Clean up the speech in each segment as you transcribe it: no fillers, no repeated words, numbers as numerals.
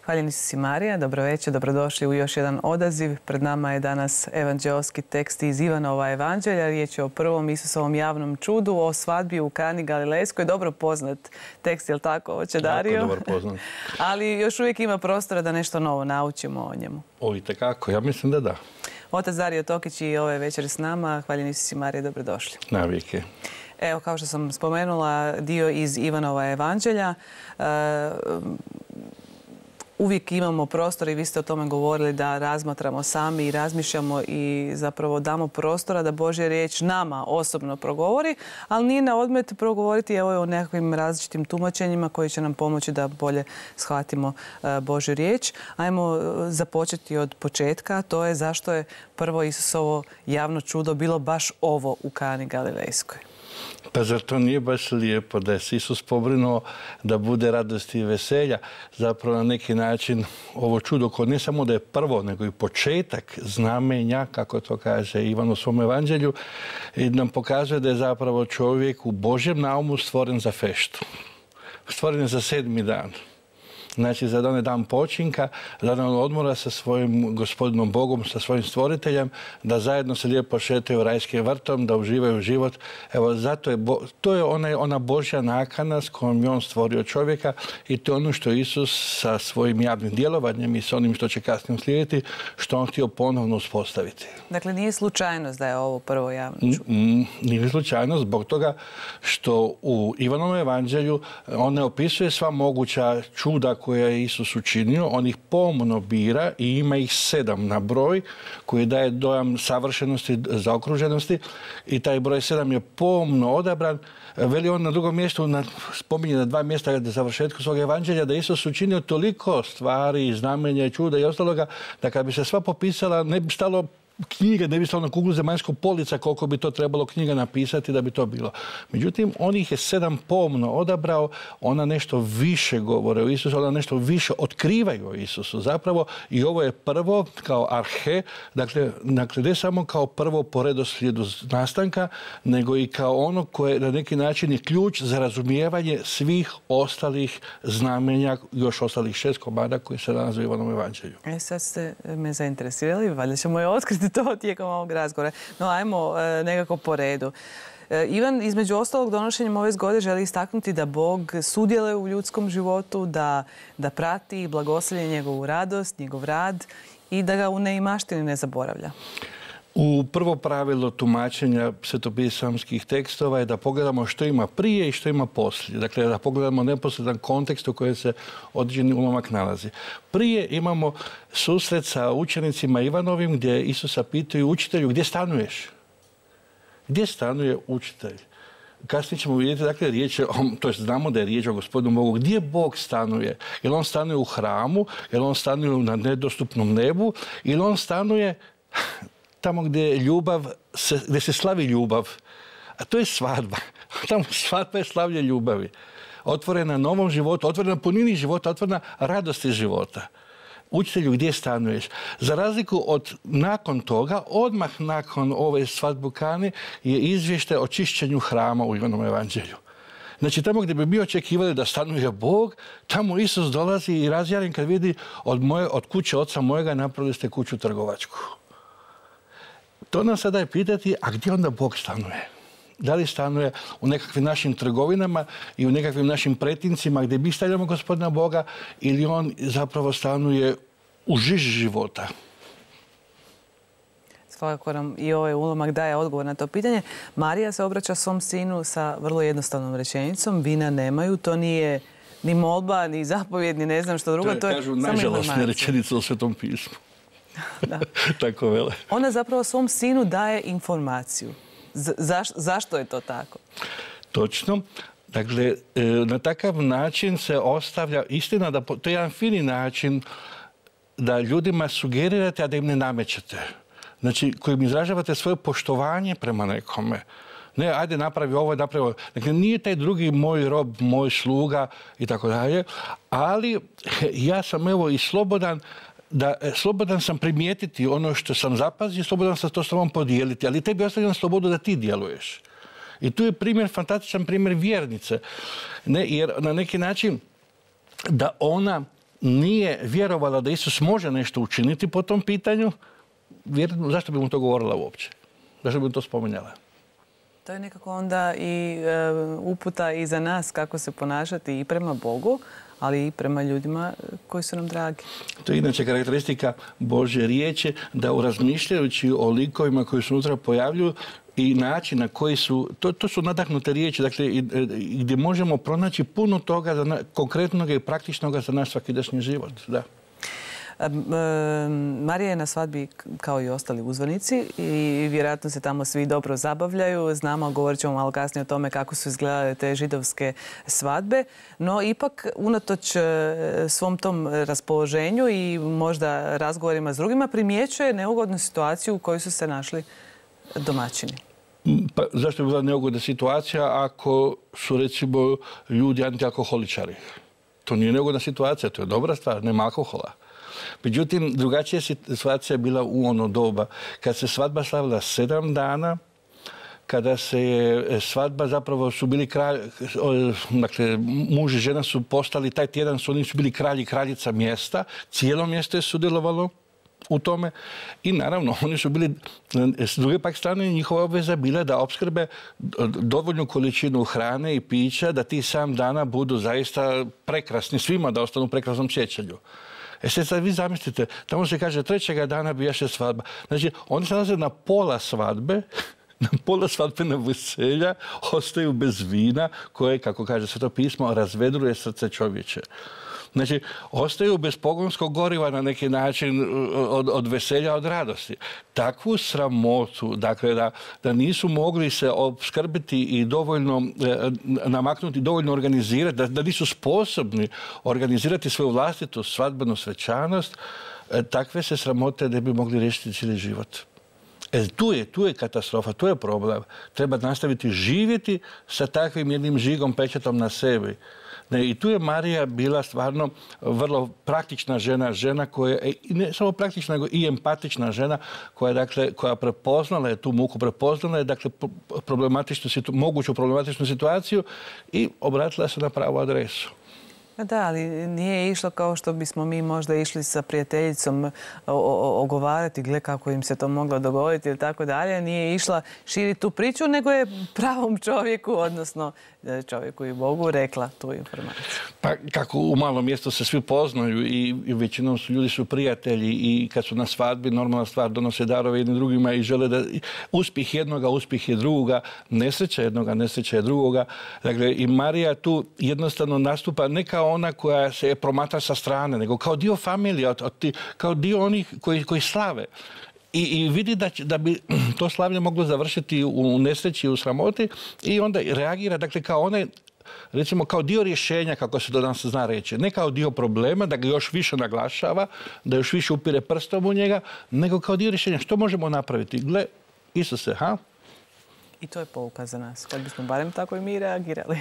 Hvaljeni si Marija, dobro večer, dobrodošli u još jedan odaziv. Pred nama je danas evanđeoski tekst iz Ivanova evanđelja. Riječ je o prvom Isusovom javnom čudu, o svadbi u Kani Galilejskoj. Dobro poznat tekst, je li tako, oče Dario? Jako dobro poznat. Ali još uvijek ima prostora da nešto novo naučimo o njemu. O, itekako, ja mislim da da. Otac Dario Tokić i ove večeri s nama. Hvaljeni si Marija, dobrodošli. Navike. Evo, kao što sam spomenula, dio iz Ivanova evanđelja. Uvijek imamo prostor i vi ste o tome govorili da razmatramo sami i razmišljamo i zapravo damo prostora da Božja riječ nama osobno progovori, ali nije na odmet progovoriti o nekakvim različitim tumačenjima koji će nam pomoći da bolje shvatimo Božju riječ. Ajmo započeti od početka, to je zašto je prvo Isusovo javno čudo bilo baš ovo u Kani Galilejskoj. Pa zar to nije baš lijepo da je Isus pobrinuo da bude radosti i veselja? Zapravo na neki način ovo čudo koje ne samo da je prvo, nego i početak znamenja, kako to kaže Ivan u svom evanđelju, i nam pokazuje da je zapravo čovjek u Božjem naumu stvoren za feštu. Stvoren je za 7. dan. Znači, za onaj dan počinka, za dan odmora sa svojim gospodinom Bogom, sa svojim stvoriteljem, da zajedno se lijepo šetaju rajskim vrtom, da uživaju život. Evo, zato je, to je ona Božja nakana s kojom je on stvorio čovjeka i to je ono što Isus sa svojim javnim djelovanjem i sa onim što će kasnije uslijediti, što on htio ponovno uspostaviti. Dakle, nije slučajnost da je ovo prvo javno čudo? Nije slučajnost zbog toga što u Ivanovom evanđelju on ne opisuje sva moguća čuda koje je Isus učinio, on ih pomno bira i ima ih 7 na broj koji daje dojam savršenosti, zaokruženosti i taj broj 7 je pomno odabran. Veli on na drugom mjestu, spominje na 2 mjesta za završetku svog evanđelja, da Isus učinio toliko stvari, znamenja i čuda i ostaloga, da kad bi se sva popisala, ne bi stalo knjige, ne bi stalo na kuglu zemaljskog polica koliko bi to trebalo knjiga napisati da bi to bilo. Međutim, on ih je 7 pomno odabrao, ona nešto više govore o Isusu, ona nešto više otkrivaju o Isusu zapravo i ovo je prvo kao arhe, dakle ne samo kao prvo po redoslijedu nastanka, nego i kao ono koje na neki način je ključ za razumijevanje svih ostalih znamenja, još ostalih 6 komada koji se nalaze u Ivanovom evanđelju. Sad ste me zainteresirali, valjda ćemo je otkriti to tijekom ovog razgovora. No, ajmo nekako po redu. Ivan, između ostalog, donošenjem ove zgode želi istaknuti da Bog sudjeluje u ljudskom životu, da prati i blagoslovlja njegovu radost, njegov rad i da ga u neimaštini ne zaboravlja. U prvo pravilo tumačenja svetopisamskih tekstova je da pogledamo što ima prije i što ima poslije. Dakle, da pogledamo neposredan kontekst u kojem se određeni ulomak nalazi. Prije imamo susret sa učenicima Ivanovim gdje Isusa pitaju učitelju gdje stanuješ? Gdje stanuje učitelj? Kasnije ćemo vidjeti, dakle, riječ je, to jest znamo da je riječ o gospodinu Bogu. Gdje Bog stanuje? Jel on stanuje u hramu? Jel on stanuje na nedostupnom nebu? Ili on stanuje tamo gdje je ljubav, gdje se slavi ljubav? A to je svadba. Tamo svadba je slavlje ljubavi. Otvorena novom životu, otvorena punini života, otvorena radosti života. Učitelju, gdje stanuješ? Za razliku od nakon toga, odmah nakon ove svadbe u Kani je izvještaj o čišćenju hrama u Ivanovom evanđelju. Znači, tamo gdje bi mi očekivali da stanuje Bog, tamo Isus dolazi i razjaren kad vidi od kuće oca mojega napravili ste kuću trgovačku. To nam sada je pitati, a gdje onda Bog stanuje? Da li stanuje u nekakvim našim trgovinama i u nekakvim našim pretincima gdje mi stavljamo gospodina Boga ili on zapravo stanuje u žiži života? Svakako nam i ovaj ulomak daje odgovor na to pitanje. Marija se obraća svom sinu sa vrlo jednostavnom rečenicom. Vina nemaju, to nije ni molba, ni zapovjed, ni ne znam što drugo. To je, kažu, najžalosnija rečenica u Svetom pismu. Da. Tako vele. Ona zapravo svom sinu daje informaciju. Zašto je to tako? Točno. Dakle, na takav način se ostavlja istina da to je jedan fini način da ljudima sugerirate, a da im ne namećete. Znači, kojim izražavate svoje poštovanje prema nekome. Ne, ajde napravi ovo, napravi ovo. Dakle, nije taj drugi moj rob, moj sluga i tako dalje, ali ja sam evo i slobodan sam primijetiti ono što sam zapazio, slobodan sam to s tobom podijeliti, ali tebi ostavljam slobodu da ti djeluješ. I tu je primjer, fantastičan primjer vjernice. Ne, jer na neki način da ona nije vjerovala da Isus može nešto učiniti po tom pitanju, zašto bi mu to govorila uopće? Zašto bi mu to spominjala? To je nekako onda i uputa i za nas kako se ponašati i prema Bogu, ali i prema ljudima koji su nam dragi. To je inače karakteristika Božje riječi, da razmišljajući o likovima koji se unutra pojavljuju i način na koji su, to su nadahnute riječi, dakle, gdje možemo pronaći puno toga konkretnog i praktičnog za naš svakidašnji život. Da. Marija je na svadbi kao i ostali uzvanici i vjerojatno se tamo svi dobro zabavljaju. Znamo, govorit ćemo malo kasnije o tome kako su izgledale te židovske svadbe, no ipak unatoč svom tom raspoloženju i možda razgovorima s drugima primjećuje neugodnu situaciju u kojoj su se našli domaćini. Pa, zašto bi bila neugodna situacija ako su, recimo, ljudi antialkoholičari? To nije neugodna situacija, to je dobra stvar, nema alkohola. Međutim, drugačija situacija je bila u ono doba kad se svadba slavila 7 dana, kada se je svadba, zapravo su bili dakle, muž i žena su postali, taj tjedan oni su bili kralj i kraljica mjesta, cijelo mjesto je sudjelovalo u tome i naravno oni su bili, s druge pak strane njihova obveza bila da opskrbe dovoljnu količinu hrane i pića, da tih 7 dana budu zaista prekrasni svima, da ostanu u prekrasnom sjećanju. Sad vi zamislite, tamo se kaže 3. dana bijaše svadba. Znači, oni se nalaze na pola svadbe, na pola svadbenog veselja, ostaju bez vina koje, kako kaže Sveto pismo, razvedruje srce čovječe. Znači, ostaju bez pogonskog goriva na neki način od veselja, od radosti. Takvu sramotu, dakle, da nisu mogli se opskrbiti i dovoljno namaknuti, dovoljno organizirati, da nisu sposobni organizirati svoju vlastitu svadbenu svečanost, takve se sramote ne bi mogli riješiti cijeli život. Tu je katastrofa, tu je problem. Treba nastaviti živjeti sa takvim jednim žigom, pečatom na sebi. I tu je Marija bila stvarno vrlo praktična žena, žena koja je, ne samo praktična, nego i empatična žena koja prepoznala je tu muku, prepoznala je moguću problematičnu situaciju i obratila se na pravu adresu. Da, ali nije išlo kao što bismo mi možda išli sa prijateljicom ogovarati, gle kako im se to moglo dogoditi ili tako dalje. Nije išla širiti tu priču, nego je pravom čovjeku, odnosno čovjeku i Bogu, rekla tu informaciju. Pa kako u malom mjestu se svi poznaju i većinom ljudi su prijatelji i kad su na svadbi, normalna stvar, donose darove jednim drugima i žele da uspjeh jednoga, uspjeh je drugoga, nesreća jednoga, nesreća je drugoga. Dakle, i Marija tu jednostavno nastupa ne kao ona koja se promatra sa strane, nego kao dio familije, kao dio onih koji slave. I vidi da bi to slavlje moglo završiti u nesreći, u sramoti i onda reagira, dakle, kao onaj, recimo, kao dio rješenja, kako se to danas zna reći. Ne kao dio problema, da ga još više naglašava, da još više upire prstom u njega, nego kao dio rješenja. Što možemo napraviti? Gle, Isuse, ha? I to je pouka za nas, kad bismo barem tako i mi reagirali.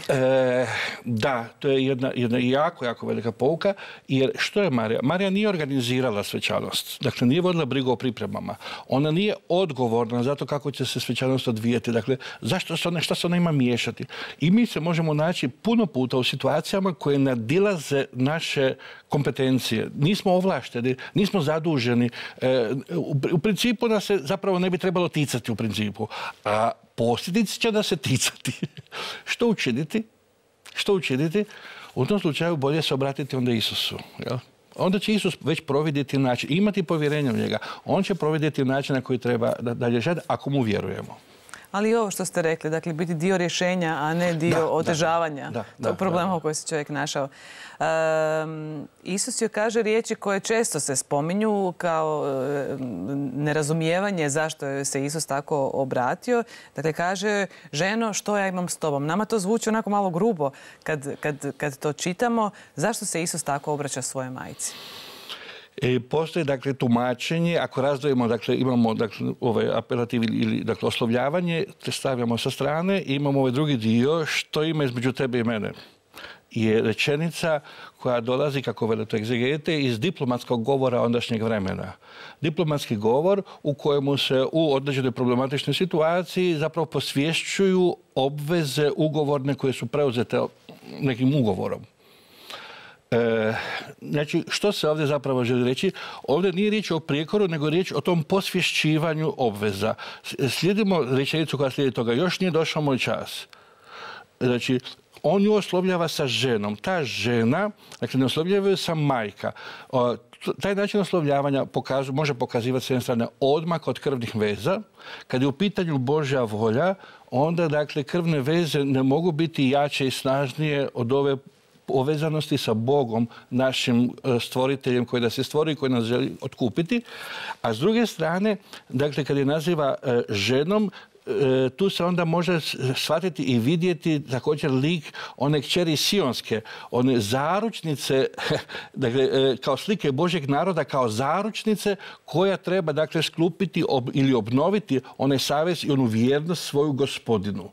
Da, to je jedna jako, jako velika pouka, jer što je Marija? Marija nije organizirala svečanost, dakle nije vodila brigu o pripremama. Ona nije odgovorna za to kako će se svečanost odvijeti, dakle šta se ona ima miješati. I mi se možemo naći puno puta u situacijama koje nadilaze naše kompetencije. Nismo ovlašteni, nismo zaduženi. U principu nas se zapravo ne bi trebalo ticati u principu. A posljedice će da se ticati. Što učiniti? Što učiniti? U tom slučaju bolje se obratiti onda Isusu. Jel? Onda će Isus već providjeti način, imati povjerenje u njega. On će providjeti način na koji treba dalje žati, ako mu vjerujemo. Ali i ovo što ste rekli, dakle, biti dio rješenja, a ne dio otežavanja tog problema u kojem se čovjek našao. Isus joj kaže riječi koje često se spominju kao nerazumijevanje zašto je se Isus tako obratio. Dakle, kaže, ženo, što ja imam s tobom? Nama to zvuči onako malo grubo kad to čitamo. Zašto se Isus tako obraća svojoj majci? Postoji, dakle, tumačenje, ako razdvojimo, dakle, imamo ovaj apelativ ili oslovljavanje, te stavljamo sa strane i imamo ovaj drugi dio, što ima između tebe i mene. Je rečenica koja dolazi, kako vele to egzegete, iz diplomatskog govora ondašnjeg vremena. Diplomatski govor u kojemu se u određenoj problematičnoj situaciji zapravo posvješćuju obveze ugovorne koje su preuzete nekim ugovorom. Znači, što se ovdje zapravo želi reći? Ovdje nije riječ o prijekoru, nego riječ o tom posvješćivanju obveza. Slijedimo rečenicu koja slijedi toga. Još nije došao moj čas. Znači, on ju oslovljava sa ženom. Ta žena, dakle, ne oslovljava sa majka. Taj način oslovljavanja može pokazivati s jedne strane odmak od krvnih veza. Kad je u pitanju Božja volja, onda, dakle, krvne veze ne mogu biti jače i snažnije od ove povezanosti sa Bogom, našim stvoriteljem koji nas je stvorio i koji nas želi otkupiti. A s druge strane, dakle, kad je naziva ženom, tu se onda može shvatiti i vidjeti također lik one kćeri Sionske, one zaručnice, dakle, kao slike Božjeg naroda, kao zaručnice koja treba, dakle, sklupiti ili obnoviti onaj savez i onu vjernost svoju Gospodinu.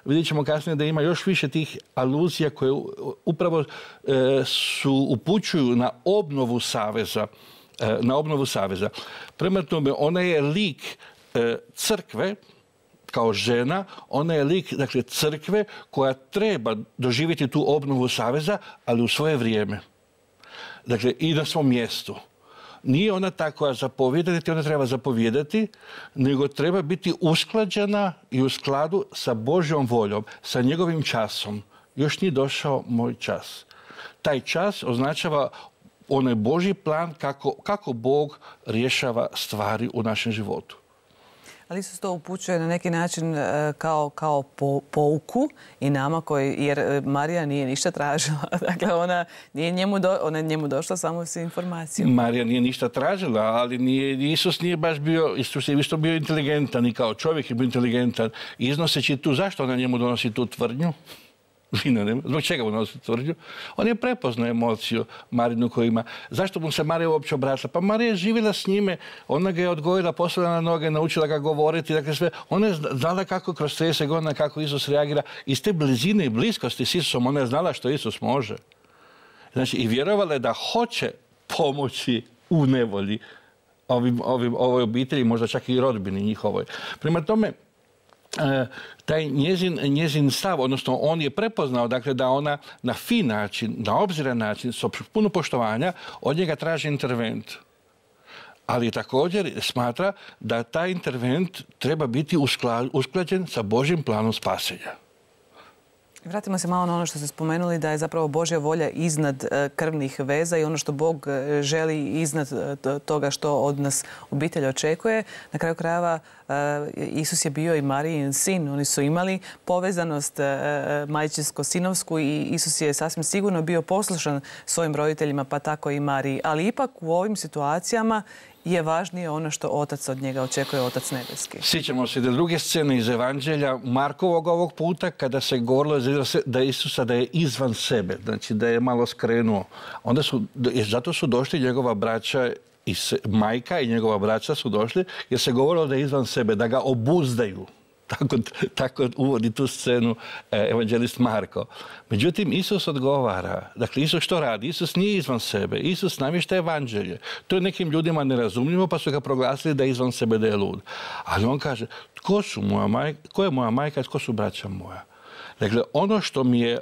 Vidjet ćemo kasnije da ima još više tih aluzija koje upravo upućuju na obnovu saveza. Prema tome, ona je lik crkve, kao žena, ona je lik, dakle, crkve koja treba doživjeti tu obnovu saveza, ali u svoje vrijeme. Dakle, i na svom mjestu. Nije ona ta koja zapovijeda, niti ona treba zapovijedati, nego treba biti usklađena i u skladu sa Božjom voljom, sa njegovim časom. Još nije došao moj čas. Taj čas označava onaj Božji plan kako Bog rješava stvari u našem životu. Ali Isus to upućuje na neki način kao pouku i nama, jer Marija nije ništa tražila. Dakle, ona je njemu došla samo s informacijom. Marija nije ništa tražila, ali Isus nije baš bio, Isus je isto bio inteligentan i kao čovjek je bio inteligentan. Iznoseći tu, zašto ona njemu donosi tu tvrdnju? Zbog čega mu donosi tvrdnju? On je prepoznao emociju Marinu koju ima. Zašto mu se Marija uopće obratila? Pa Marija je živjela s njime, ona ga je odgojila, postavila na noge, naučila ga govoriti, dakle sve. Ona je znala kako kroz 30 godina kako Isus reagira. Iz te blizine i bliskosti s Isusom ona je znala što Isus može. Znači, i vjerovala je da hoće pomoći u nevolji ovoj obitelji, možda čak i rodbini njihovoj. Prema tome, taj njezin stav, odnosno on je prepoznao, dakle, da ona na fin način, na obziran način, s puno poštovanja, od njega traži intervent. Ali također smatra da taj intervent treba biti usklađen sa Božjim planom spasenja. Vratimo se malo na ono što ste spomenuli, da je zapravo Božja volja iznad krvnih veza i ono što Bog želi iznad toga što od nas obitelj očekuje. Na kraju krajeva Isus je bio i Marijin sin. Oni su imali povezanost majčinsko-sinovsku i Isus je sasvim sigurno bio poslušan svojim roditeljima, pa tako i Mariji. Ali ipak u ovim situacijama je važnije ono što Otac od njega očekuje, Otac nebeski. Sjećamo se da druge scene iz Evanđelja Markovog ovog puta, kada se govorilo da Isusa da je izvan sebe, znači da je malo skrenuo. Zato su došli njegova braća, majka i njegova braća su došli, jer se govorilo da je izvan sebe, da ga obuzdaju. Tako uvodi tu scenu evanđelist Marko. Međutim, Isus odgovara. Dakle, Isus što radi? Isus nije izvan sebe. Isus namješta evanđelje. To je nekim ljudima nerazumljivo, pa su ga proglasili da je izvan sebe, da je lud. Ali on kaže, ko je moja majka, tko su braća moja? Dakle, ono što mi je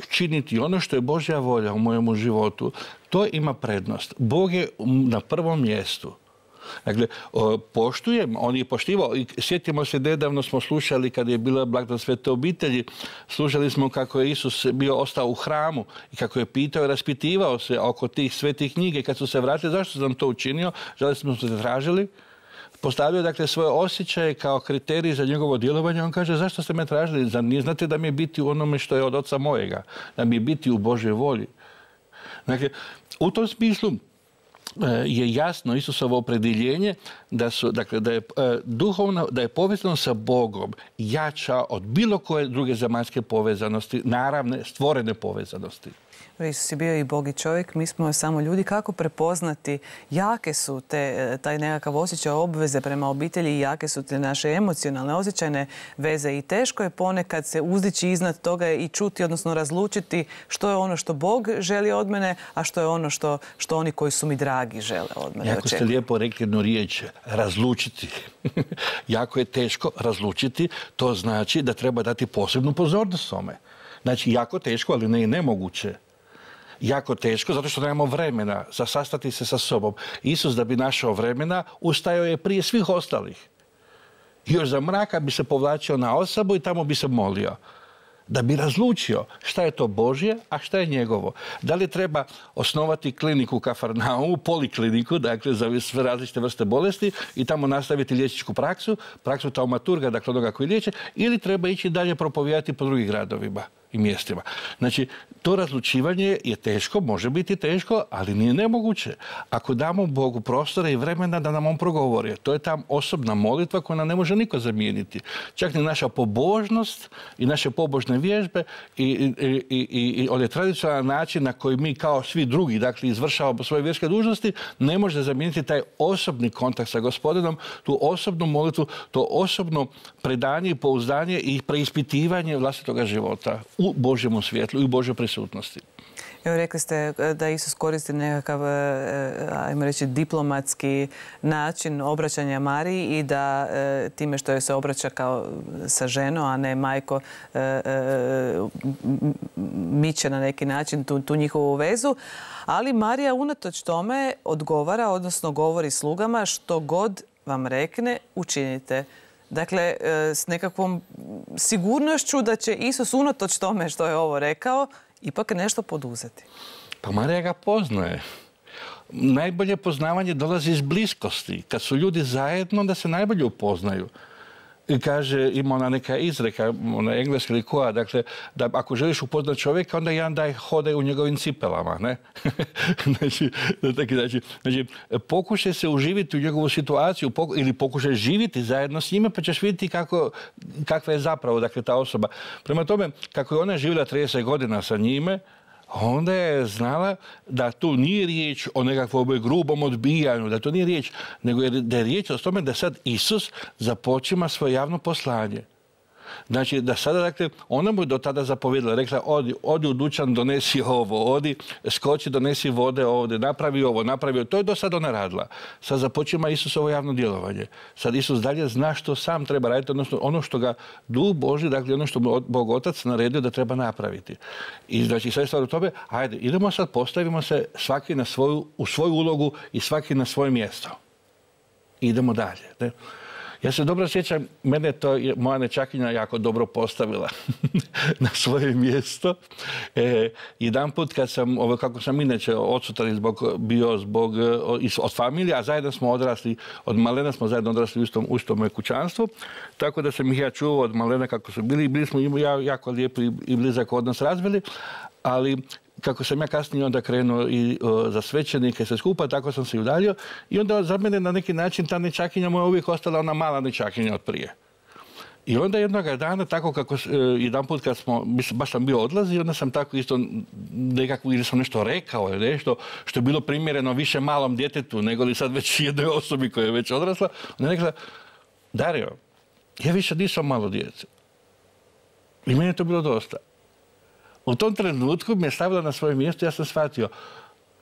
činiti, ono što je Božja volja u mojemu životu, to ima prednost. Bog je na prvom mjestu. Dakle, poštujem, on je poštivao. Sjetimo se, nedavno smo slušali kada je bila blagdan Svete obitelji, slušali smo kako je Isus ostao u hramu i kako je pitao i raspitivao se oko tih svetih knjige. Kad su se vratili, zašto sam to učinio? Žali smo se tražili. Postavio, dakle, svoje osjećaje kao kriterij za njegovo djelovanje. On kaže, zašto ste me tražili? Zar nije znate da mi je biti u onome što je od Oca mojega? Da mi je biti u Božoj volji? Dakle, u tom smislu je jasno Isusovo opredjeljenje da je povezanost sa Bogom jača od bilo koje druge zemaljske povezanosti, naravne, stvorene povezanosti. Isus je bio i Bog i čovjek, mi smo samo ljudi. Kako prepoznati, jake su taj nekakav osjećaj obveze prema obitelji i jake su te naše emocionalne, osjećajne veze i teško je ponekad se uzdići iznad toga i čuti, odnosno razlučiti što je ono što Bog želi od mene, a što je ono što oni koji su mi dragi žele od mene. Jako ste lijepo rekli jednu riječ, razlučiti. Jako je teško razlučiti, to znači da treba dati posebnu pozornost tome. Znači, jako teško, ali ne i nemoguće. jako teško, zato što nemamo vremena za sastati se sa sobom. Isus, da bi našao vremena, ustajao je prije svih ostalih. Još za mraka bi se povlačio na osobu i tamo bi se molio. Da bi razlučio šta je to Božje, a šta je njegovo. Da li treba osnovati kliniku u Kafarnaumu, polikliniku, dakle za sve različite vrste bolesti i tamo nastaviti liječničku praksu taumaturga, dakle onoga koji liječe, ili treba ići dalje propovijedati po drugih gradovima i mjestima. Znači, to razlučivanje je teško, može biti teško, ali nije nemoguće. Ako damo Bogu prostora i vremena da nam on progovori, to je ta osobna molitva koju nam ne može niko zamijeniti. Čak ni naša pobožnost i naše pobožne vježbe i onaj tradicionalan način na koji mi kao svi drugi, dakle, izvršavamo svoje vjerske dužnosti, ne može zamijeniti taj osobni kontakt sa Gospodinom, tu osobnu molitvu, to osobno predanje i pouzdanje i preispitivanje vlastitoga života u Božjemu svjetlu i u Božjoj prisutnosti. Evo, rekli ste da Isus koristi nekakav, ajmo reći, diplomatski način obraćanja Mariji i da time što joj se obraća kao sa ženom, a ne majko, miče na neki način tu njihovu vezu. Ali Marija unatoč tome odgovara, odnosno govori slugama, što god vam rekne, učinite. Dakle, s nekakvom sigurnošću da će Isus unatoč tome što je ovo rekao, ipak nešto poduzeti. Pa Marija ga poznaje. Najbolje poznavanje dolazi iz bliskosti. Kad su ljudi zajedno, onda se najbolje upoznaju. I kaže, ima ona neka izreka, ona engleska ili koja, dakle, da ako želiš upoznati čovjeka, onda jedan daj hodaj u njegovim cipelama, ne? Znači, pokušaj se uživiti u njegovu situaciju ili pokušaj živjeti zajedno s njime, pa ćeš vidjeti kakva je zapravo, dakle, ta osoba. Prema tome, kako je ona živjela 30 godina sa njime, onda je znala da tu nije riječ o nekakvom grubom odbijanju, da to nije riječ, nego da je riječ o tome da sad Isus započima svoje javno poslanje. Znači, da sada, dakle, ona mu je do tada zapovjedila, rekla, odi u dućan, donesi ovo, odi, skoči, donesi vode ovdje, napravi ovo, napravi ovo. To je do sada ona radila. Sad započima Isusovo javno djelovanje. Sad Isus dalje zna što sam treba raditi, odnosno ono što ga Duh Božji, dakle ono što Bog Otac naredio da treba napraviti. I znači, sad je stvar u tome, ajde, idemo sad, postavimo se svaki u svoju ulogu i svaki na svoje mjesto. Idemo dalje. Ne? Ja se dobro sjećam, mene to moja nećakinja jako dobro postavila na svoje mjesto. Jedanput kad sam, kako sam inače odsutan bio od familije, a zajedno smo odrasli, od malena smo zajedno odrasli u istom kućanstvu, tako da sam ih ja čuvao od malena kako su bili i bili smo jako lijepo i blizak odnos razvili, ali kako sam ja kasnije onda krenuo i za svećenike sve skupa, tako sam se i udaljio. I onda za mene na neki način ta nečakinja moja uvijek ostala ona mala nečakinja od prije. I onda jednoga dana, tako kako jedanput kad baš sam bio odlazi, onda sam tako isto nekako, ili sam nešto rekao, ili nešto što je bilo primjereno više malom djetetu, nego li sad već jednoj osobi koja je već odrasla. Onda je rekla, Dario, ja više nisam malo djece. I meni je to bilo dosta. U tom trenutku me je stavila na svoje mjesto i ja sam shvatio,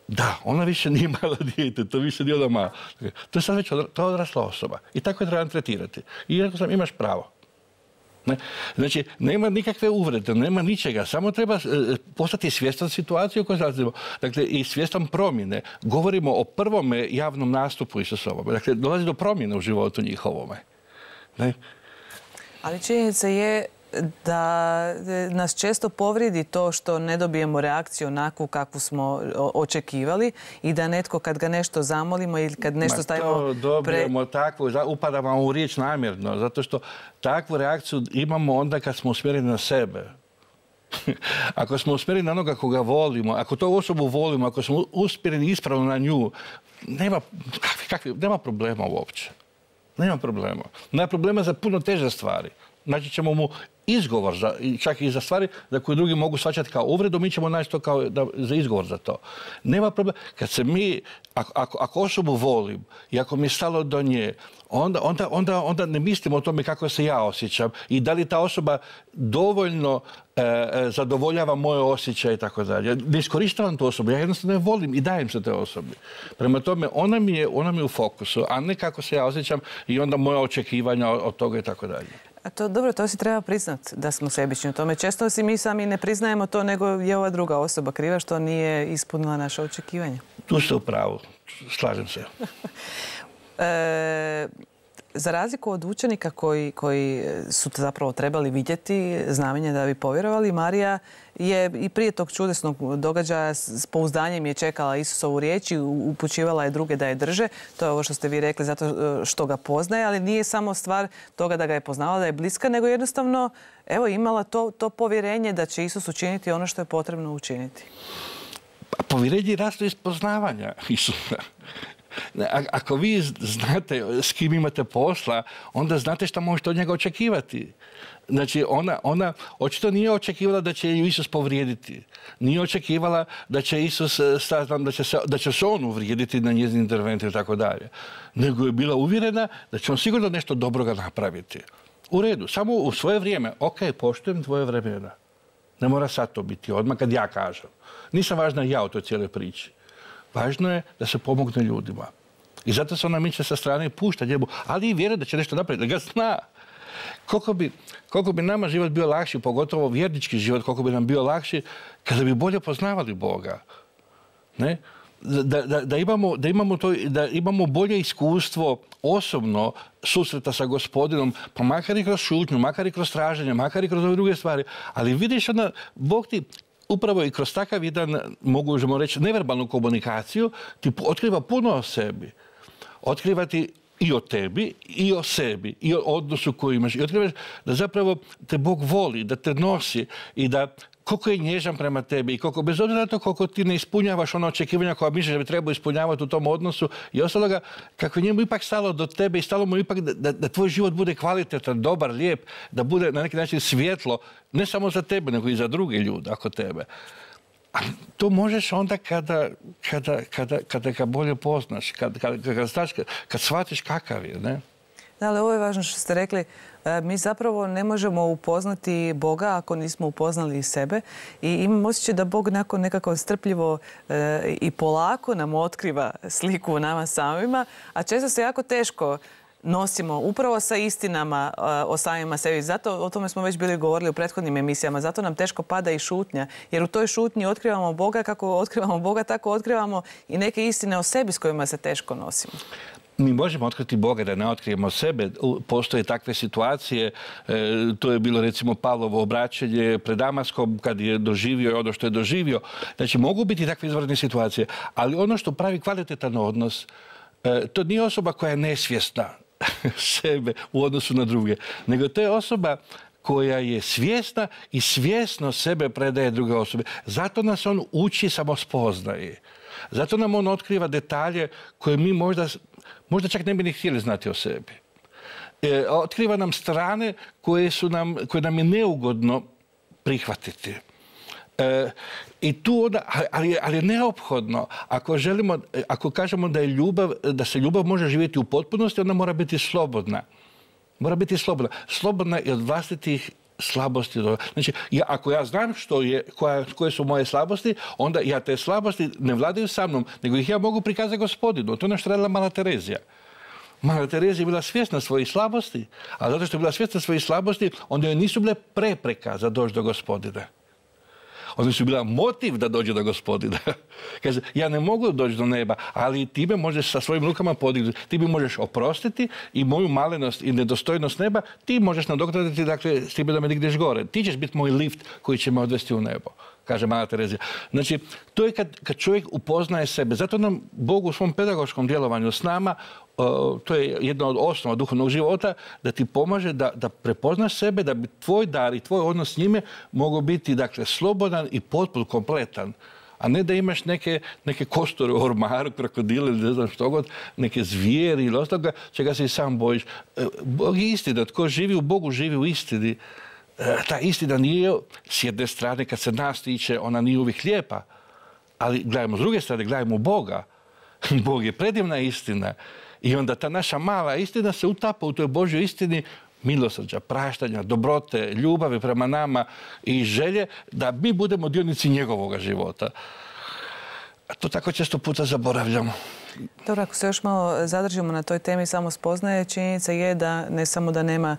da, ona više nije malo dijete, to više nije ona mala. To je sad već odrasla osoba i tako je trebam tretirati. I rekao sam, imaš pravo. Ne? Znači, nema nikakve uvrede, nema ničega, samo treba postati svjestan situacije u kojoj zalazimo. Dakle, i svjestan promjene. Govorimo o prvome javnom nastupu Isusovome. Dakle, dolazi do promjene u životu njihovome. Ne? Ali činjenica je da nas često povrijedi to što ne dobijemo reakciju onakvu kakvu smo očekivali i da netko kad ga nešto zamolimo ili kad nešto stavimo... To dobijemo takvu, upadamo u riječ namjerno, zato što takvu reakciju imamo onda kad smo usmjereni na sebe. Ako smo usmjereni na onoga koga volimo, ako tu osobu volimo, ako smo usmjereni ispravno na nju, nema problema uopće. Nema problema. Nema problema za puno teže stvari. Naći ćemo mu izgovor, čak i za stvari za koje drugi mogu shvaćati kao uvredu, mi ćemo naći to kao za izgovor za to. Nema problema. Kad se mi, ako osobu volim i ako mi je stalo do nje, onda ne mislim o tome kako se ja osjećam i da li ta osoba dovoljno zadovoljava moje osjećaje i tako dalje. Ne iskorištavam tu osobu, ja jednostavno je volim i dajem se te osobi. Prema tome, ona mi je u fokusu, a ne kako se ja osjećam i onda moja očekivanja od toga i tako dalje. A to dobro, to si treba priznat da smo sebični u tome. Često si mi sami ne priznajemo to, nego je ova druga osoba kriva što nije ispunila naše očekivanja. Tu ste u pravu, slažem se. Za razliku od učenika koji su zapravo trebali vidjeti znamenje da bi povjerovali, Marija je i prije tog čudesnog događaja s pouzdanjem je čekala Isusovu riječ i upućivala je druge da je drže. To je ovo što ste vi rekli zato što ga poznaje, ali nije samo stvar toga da ga je poznavala, da je bliska, nego jednostavno imala to povjerenje da će Isus učiniti ono što je potrebno učiniti. Povjerenje raste iz poznavanja Isusa. Ako vi znate s kim imate posla, onda znate što možete od njega očekivati. Znači, ona očito nije očekivala da će ju Isus povrijediti. Nije očekivala da će Isus, da će se on uvrijediti na njezin intervenciju i tako dalje. Nego je bila uvjerena da će on sigurno nešto dobroga napraviti. U redu, samo u svoje vrijeme. Ok, poštujem tvoje vremena. Ne mora sad to biti odmah kad ja kažem. Nisam važna ja u toj cijeloj priči. Važno je da se pomogne ljudima. I zato se ona miče sa strane i pušta njemu, ali i vjeruje da će nešto napraviti, da ga zna. Koliko bi nama život bio lakši, pogotovo vjernički život, koliko bi nam bio lakši kada bi bolje poznavali Boga. Ne? Da imamo bolje iskustvo osobno susreta sa Gospodinom, pa makar i kroz šutnju, makar i kroz traženje, makar i kroz ove druge stvari. Ali vidiš, Bog ti upravo i kroz takav jedan, možemo reći, neverbalnu komunikaciju, ti otkriva puno o sebi. Otkriva ti i o tebi, i o sebi, i o odnosu koji imaš. I otkrivaš da zapravo te Bog voli, da te nosi i da koliko je nježan prema tebi i koliko, bez obzira na to koliko ti ne ispunjavaš ono očekivanja koja misliš da bi trebao ispunjavati u tom odnosu i ostaloga, kako je njemu ipak stalo do tebe i stalo mu ipak da tvoj život bude kvalitetan, dobar, lijep, da bude na neki način svjetlo, ne samo za tebe, nego i za druge ljude oko tebe. A to možeš onda kada ga bolje poznaš, kad shvatiš kakav je, ne? Da, ali ovo je važno što ste rekli. Mi zapravo ne možemo upoznati Boga ako nismo upoznali i sebe. I imam osjećaj da Bog nakon nekako strpljivo i polako nam otkriva sliku u nama samima, a često se jako teško nosimo upravo sa istinama o samima sebi. Zato, o tome smo već bili govorili u prethodnim emisijama, zato nam teško pada i šutnja. Jer u toj šutnji otkrivamo Boga, kako otkrivamo Boga, tako otkrivamo i neke istine o sebi s kojima se teško nosimo. Mi možemo otkriti Boga da ne otkrijemo sebe. Postoje takve situacije. To je bilo recimo Pavlovo obraćanje pred Damaskom kad je doživio ono što je doživio. Znači mogu biti takve izvanredne situacije. Ali ono što pravi kvalitetan odnos, to nije osoba koja je nesvjesna sebe u odnosu na druge. Nego to je osoba koja je svjesna i svjesno sebe predaje druge osobe. Zato nas on uči samospoznaje. Zato nam on otkriva detalje koje mi možda čak ne bi ni htjeli znati o sebi. Otkriva nam strane koje nam je neugodno prihvatiti. I tu onda, ali je neophodno, ako kažemo da se ljubav može živjeti u potpunosti, ona mora biti slobodna. Mora biti slobodna. Slobodna i od vlastitih slabosti. Znači, ako ja znam koje su moje slabosti, onda ja te slabosti ne vladaju sa mnom, nego ih ja mogu prikazati Gospodinu. To je ono što radila Mala Terezija. Mala Terezija je bila svjesna svojih slabosti, a zato što je bila svjesna svojih slabosti, onda joj nisu bile prepreka za doći do Gospodina. One su bila motiv da dođe do Gospodina. Kaže, ja ne mogu doći do neba, ali ti me možeš sa svojim rukama podignuti. Ti mi možeš oprostiti i moju malenost i nedostojnost neba ti možeš nadoknaditi, dakle, s time da me digneš gore. Ti ćeš biti moj lift koji će me odvesti u nebo, kaže Mala Terezija. Znači, to je kad čovjek upoznaje sebe. Zato nam Bog u svom pedagoškom djelovanju s nama, to je jedna od osnova duhovnog života, da ti pomaže da prepoznaš sebe, da bi tvoj dar i tvoj odnos s njime mogao biti, dakle, slobodan i potpuno kompletan. A ne da imaš neke kostore u ormaru, krokodile ili ne znam što god, neke zvijeri ili ostaloga, čega se i sam bojiš. Bog je istina. Tko živi u Bogu, živi u istini. Ta istina nije, s jedne strane, kad se nas tiče, ona nije uvijek lijepa. Ali gledajmo s druge strane, gledajmo u Boga. Bog je predivna istina. I onda ta naša mala istina se utapa u toj Božjoj istini milosrđa, praštanja, dobrote, ljubavi prema nama i želje da mi budemo dionici njegovoga života. A to tako često puta zaboravljamo. Dobro, ako se još malo zadržimo na toj temi samospoznaje, činjenica je da ne samo da nema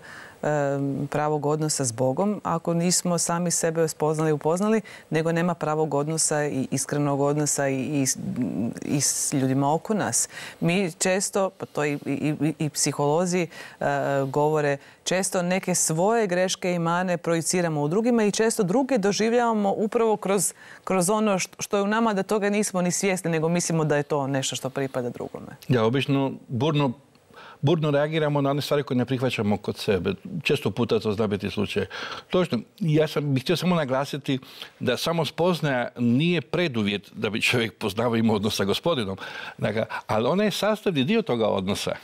pravog odnosa s Bogom, ako nismo sami sebe spoznali i upoznali, nego nema pravog odnosa i iskrenog odnosa i s ljudima oko nas. Mi često, pa to i psiholozi govore, često neke svoje greške i mane projiciramo u drugima i često druge doživljavamo upravo kroz ono što je u nama, da toga nismo ni svjesni, nego mislimo da je to nešto što pripada drugome. Ja, obično burno reagiramo na one stvari koje ne prihvaćamo kod sebe. Često puta to zna biti slučaj. Točno, ja bih htio samo naglasiti da samo spoznaja nije preduvjet da bi čovjek poznavao i imao odnos sa Gospodinom. Dakle, ali ona je sastavni dio toga odnosa.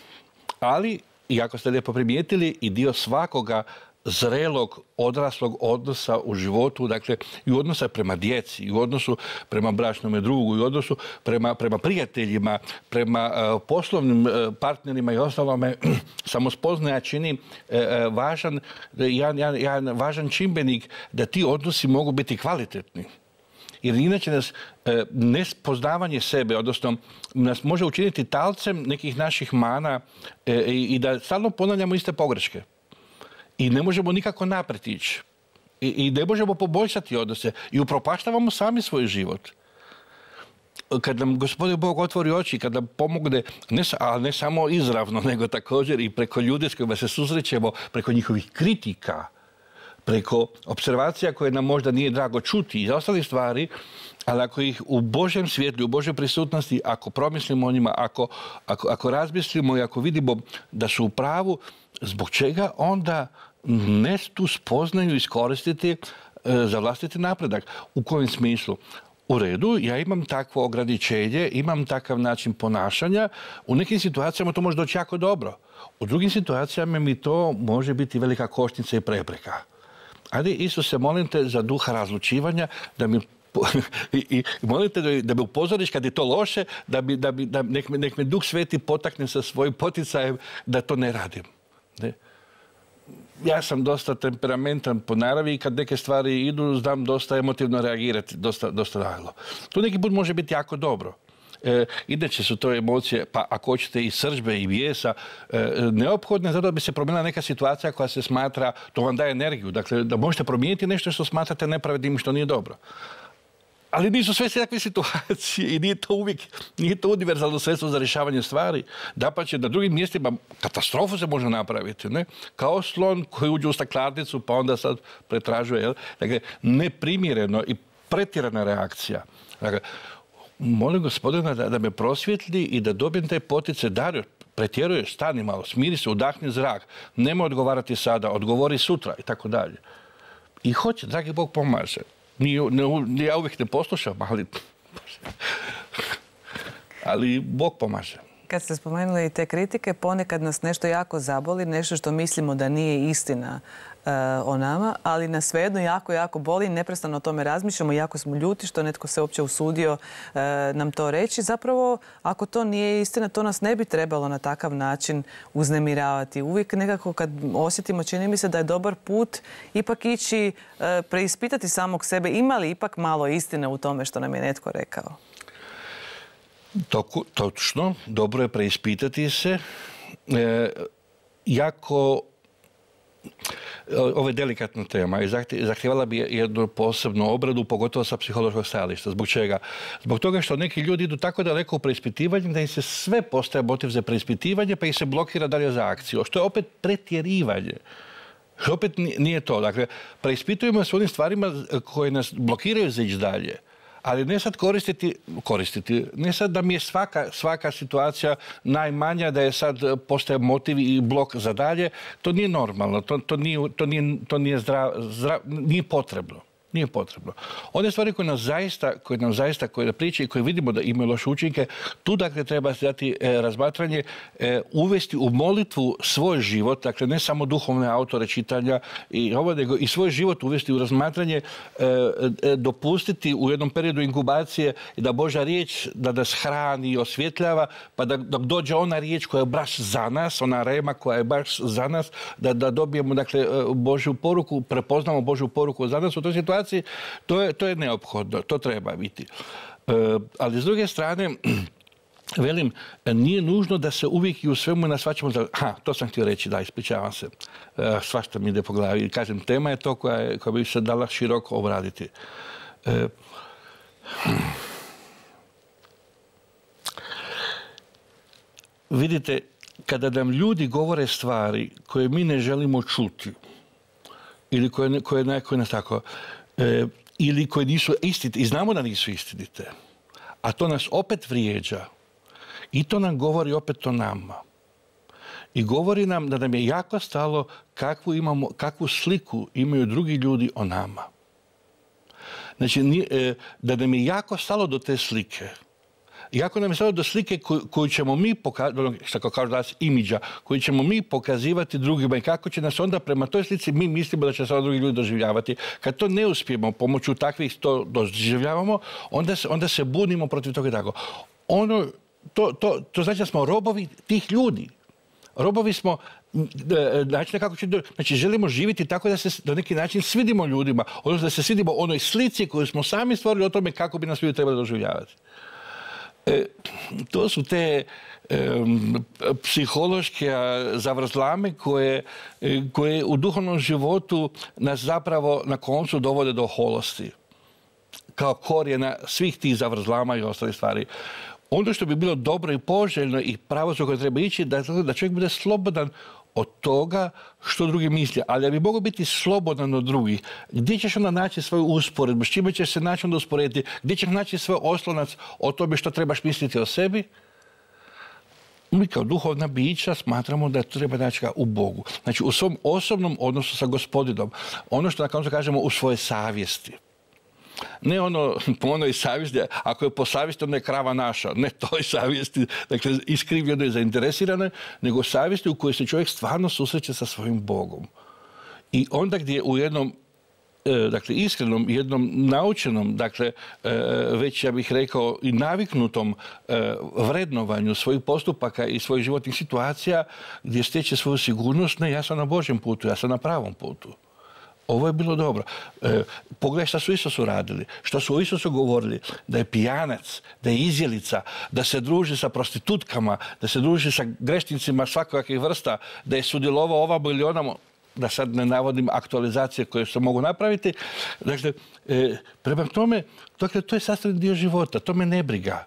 Ali, i ako ste lijepo primijetili, i dio svakoga zrelog, odraslog odnosa u životu, dakle i u odnosa prema djeci, i u odnosu prema bračnome drugu, i u odnosu prema prijateljima, prema poslovnim partnerima i ostalome, samospoznaja čini jedan važan čimbenik da ti odnosi mogu biti kvalitetni. Jer inače nas nespoznavanje sebe, odnosno nas može učiniti talcem nekih naših mana i da stalno ponavljamo iste pogreške. I ne možemo nikako naprijed ići. I ne možemo poboljšati odnose. I upropaštavamo sami svoj život. Kad nam Gospodin Bog otvori oči, kad nam pomogne, ali ne samo izravno, nego također i preko ljudi s kojima se susrećemo, preko njihovih kritika, preko observacija koje nam možda nije drago čuti i ostalih stvari, ali ako ih u Božjem svjetlu, u Božoj prisutnosti, ako promislimo o njima, ako razmislimo i ako vidimo da su u pravu, zbog čega onda ne tu spoznaju iskoristiti za vlastiti napredak? U kojem smislu? U redu, ja imam takvo ograničenje, imam takav način ponašanja. U nekim situacijama to može doći jako dobro. U drugim situacijama mi to može biti velika kočnica i prepreka. Ali Isuse, molim te za duha razlučivanja da mi i molim te da me upozoriš kad je to loše, nek me Duh Sveti potakne sa svojim poticajem da to ne radim. Ne? Ja sam dosta temperamentan po naravi i kad neke stvari idu, znam dosta emotivno reagirati, dosta naglo. To neki put može biti jako dobro. Inače su to emocije, pa ako hoćete i srdžbe i bijesa, neophodne zato da bi se promijenila neka situacija koja se smatra, to vam daje energiju. Dakle, da možete promijeniti nešto što smatrate nepravednim i što nije dobro. Ali nisu sve takve situacije i nije to univerzalno sredstvo za rješavanje stvari. Dapače, na drugim mjestima katastrofu se može napraviti. Ne? Kao slon koji uđe u staklarnicu pa onda sad pretražuje. Jel? Dakle, neprimjereno i pretjerana reakcija. Dakle, molim Gospodina da me prosvjetli i da dobijem taj poticaj. Dario, pretjeruješ, stani malo, smiri se, udahni zrak. Nemoj odgovarati sada, odgovori sutra i tako dalje. I hoće, dragi Bog pomaže. Ja uvijek ne poslušam, ali Bog pomaže. Kad ste spomenuli te kritike, ponekad nas nešto jako zaboli, nešto što mislimo da nije istina o nama, ali nas svejedno jako boli, neprestano o tome razmišljamo, jako smo ljuti što netko se uopće usudio nam to reći. Zapravo, ako to nije istina, to nas ne bi trebalo na takav način uznemiravati. Uvijek nekako kad osjetimo, čini mi se da je dobar put ipak ići preispitati samog sebe, ima li ipak malo istine u tome što nam je netko rekao? Točno, dobro je preispitati se. Ovo je delikatna tema i zahtijevala bi jednu posebnu obradu, pogotovo sa psihološkog stajališta. Zbog čega? Zbog toga što neki ljudi idu tako daleko u preispitivanju da im se sve postaje motiv za preispitivanje pa ih se blokira dalje za akciju, što je opet pretjerivanje. Što opet nije to. Dakle, preispitujemo se onim stvarima koje nas blokiraju za ići dalje. Ali ne sad koristiti, ne sad da mi je svaka situacija najmanja, da je sad postaje motiv i blok za dalje. To nije normalno, to nije potrebno. Nije potrebno. One stvari koje nam zaista priče i koje vidimo da imaju loše učinke, tu dakle treba dati razmatranje, uvesti u molitvu svoj život, dakle ne samo duhovne autore čitanja nego i svoj život uvesti u razmatranje, dopustiti u jednom periodu inkubacije da Božja riječ da nas hrani i osvjetljava, pa da dođe ona riječ koja je baš za nas, ona rema koja je baš za nas, da dobijemo dakle Božju poruku, prepoznamo Božju poruku za nas u toj situaciji. To je neophodno, to treba biti. Ali s druge strane, velim, nije nužno da se uvijek i u svemu nasvaćamo da... to sam htio reći, da, ispričavam se. Svašta mi ide po glavi. Kažem, tema je to koja bi se dala široko obraditi. Vidite, kada nam ljudi govore stvari koje mi ne želimo čuti, ili koje nas tako, ili koje nisu istinite, i znamo da nisu istinite, a to nas opet vrijeđa, i to nam govori opet o nama. I govori nam da nam je jako stalo kakvu sliku imaju drugi ljudi o nama. Znači, da nam je jako stalo do te slike. Jako nam je stalo do slike koju ćemo mi pokazati, što kažu danas imidža, koju ćemo mi pokazivati drugima i kako će nas onda prema toj slici mi mislimo da će se drugi ljudi doživljavati. Kad to ne uspijemo, pomoću takvih to doživljavamo, onda se bunimo protiv toga i tako. To znači da smo robovi tih ljudi. Robovi smo, znači želimo živjeti tako da se na neki način svidimo ljudima, odnosno da se svidimo onoj slici koju smo sami stvorili o tome kako bi nas ljudi trebali doživljavati. To su te psihološke zavrzlame koje u duhovnom životu nas zapravo na koncu dovode do oholosti. Kao korijena svih tih zavrzlama i ostalih stvari. Ono što bi bilo dobro i poželjno i pravo koje treba ići da čovjek bude slobodan od toga što drugi misle. Ali da bi mogao biti slobodan od drugih, gdje ćeš onda naći svoju usporedbu, s čime ćeš se naći onda usporediti, gdje ćeš naći svoj oslonac o tome što trebaš misliti o sebi? Mi kao duhovna bića smatramo da to treba naći u Bogu. Znači u svom osobnom odnosu sa Gospodinom. Ono što na koncu kažemo u svojoj savjesti. Ne po onoj savjesti, ako je po savjesti, onda je krava naša. Ne toj savjesti, dakle, iskrivljeno i zainteresirano, nego savjesti u kojoj se čovjek stvarno susreće sa svojim Bogom. I onda gdje u jednom, dakle, iskrenom, jednom naučenom, dakle, već ja bih rekao i naviknutom vrednovanju svojih postupaka i svojih životnih situacija, gdje stječe svoju sigurnost, ne, ja sam na Božjem putu, ja sam na pravom putu. Ovo je bilo dobro. Pogledaj šta su Isusu radili, što su o Isusu govorili, da je pijanac, da je izjelica, da se druži sa prostitutkama, da se druži sa grešnicima svakakvih vrsta, da je sudjelovao ovamo ili onamo, da sad ne navodim aktualizacije koje se mogu napraviti. Dakle, prema tome, dakle, to je sastavni dio života, to me ne briga.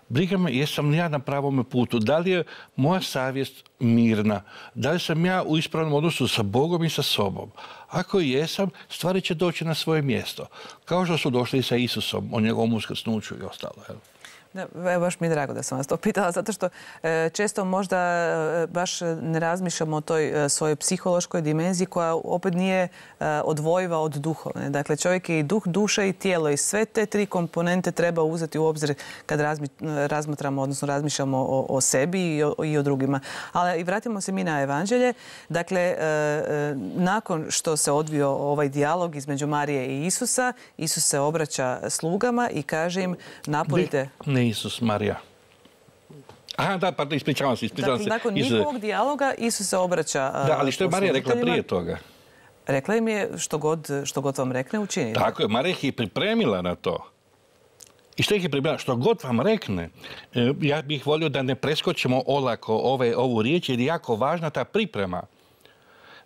Briga me jesam li ja na pravome putu, da li je moja savjest mirna, da li sam ja u ispravnom odnosu sa Bogom i sa sobom. Ako jesam, stvari će doći na svoje mjesto. Kao što su došli i sa Isusom, o njegovom uskrsnuću i ostalo. Da, baš mi je drago da sam vas to pitala, zato što često možda baš ne razmišljamo o toj svojoj psihološkoj dimenziji koja opet nije odvojiva od duhovne. Dakle, čovjek je i duh, duša i tijelo i sve te tri komponente treba uzeti u obzir kad razmatramo, odnosno razmišljamo o sebi i o drugima. Ali i vratimo se mi na evanđelje. Dakle, nakon što se odvio ovaj dijalog između Marije i Isusa, Isus se obraća slugama i kaže im napunite... Ne Isus, Marija. Aha, da, pardon, ispričavam se. Dakle, nakon njihovog dijaloga Isus se obraća... Da, ali što je Marija rekla prije toga? Rekla im je što god vam rekne, učinite. Tako je, Marija ih je pripremila na to. I što ih je pripremila? Što god vam rekne. Ja bih volio da ne preskočimo olako ovu riječ, jer je jako važna ta priprema.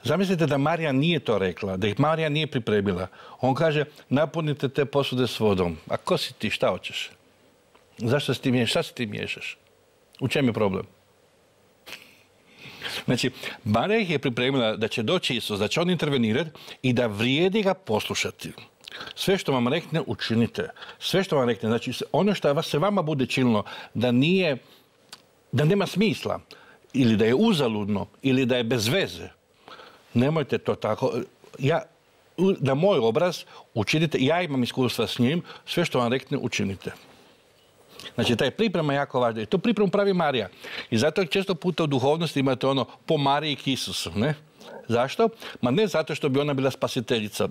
Zamislite da Marija nije to rekla, da ih Marija nije pripremila. On kaže, napunite te posude s vodom. A ko si ti, šta hoćeš? Zašto se ti miješaš? Šta se ti miješaš? U čem je problem? Znači, Marija ih je pripremila da će doći Isus, da će on intervenirati i da vrijedi ga poslušati. Sve što vam rekne, učinite. Sve što vam rekne, znači ono što se vama bude činilo da nema smisla, ili da je uzaludno, ili da je bez veze, nemojte to tako. Na moj obraz učinite, ja imam iskustva s njim, sve što vam rekne, učinite. Znači, taj priprema je jako važna. I tu pripremu pravi Marija. I zato često puta u duhovnosti imate po Mariji k Isusu, ne? Zašto? Ma ne zato što bi ona bila spasiteljica.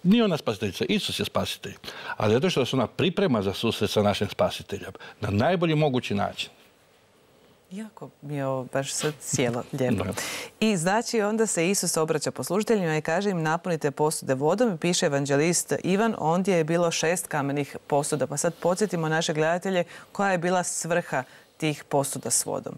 Nije ona spasiteljica, Isus je spasitelj. Ali zato što se ona priprema za susret sa našim spasiteljem. Na najbolji mogući način. Jako mi je ovo baš sad cijelo lijepo. I znači onda se Isus obraća poslužiteljima i kaže im napunite posude vodom. Piše evanđelist Ivan, ondje je bilo 6 kamenih posuda. Pa sad podsjetimo naše gledatelje koja je bila svrha tih posuda s vodom?